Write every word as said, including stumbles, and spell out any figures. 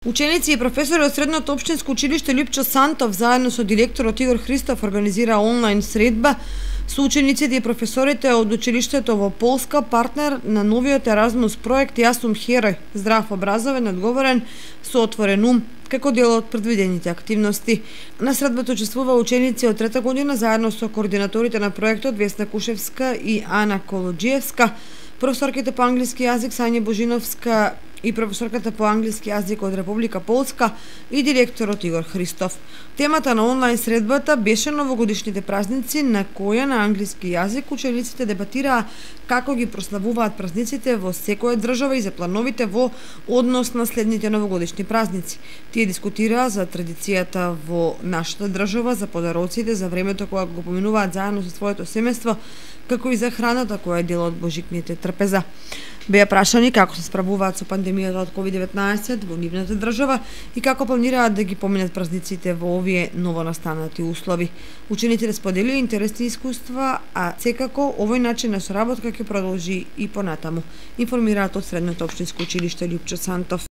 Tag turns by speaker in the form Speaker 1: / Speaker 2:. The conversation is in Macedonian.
Speaker 1: Ученици и професори од Средното општинско училиште Лјупчо Сантов заедно со директорот Игор Христов организира онлайн средба со учениците и професорите од училиштето во Полска, партнер на новиот Еразмус проект Јас сум херој, здрав, образовен, одговорен, со отворен ум, како дел од предвидените активности. На средбата учествува ученици од трета година заедно со координаторите на проектот Весна Кушевска и Ана Колоджиевска, професорките по англиски јазик Сања Божиновска и професорката по англиски јазик од Република Полска и директорот Игор Христов. Темата на онлайн средбата беше новогодишните празници, на која на англиски јазик учениците дебатираа како ги прославуваат празниците во секоја држава и за плановите во однос на следните новогодишни празници. Тие дискутираа за традицијата во нашата држава, за подароците, за времето кога го поминуваат заедно со своето семејство, како и за храната која е дел од божикните трпеза. Беа прашани како се справуваат со пандемијата од ковид деветнаесет во нивната држава и како планираат да ги поминат празниците во овие новонастанати услови. Учениците споделија интересни искуства, а секако овој начин на соработка ќе продолжи и понатаму, информираат од Средното општинско училиште Лјупчо Сантов.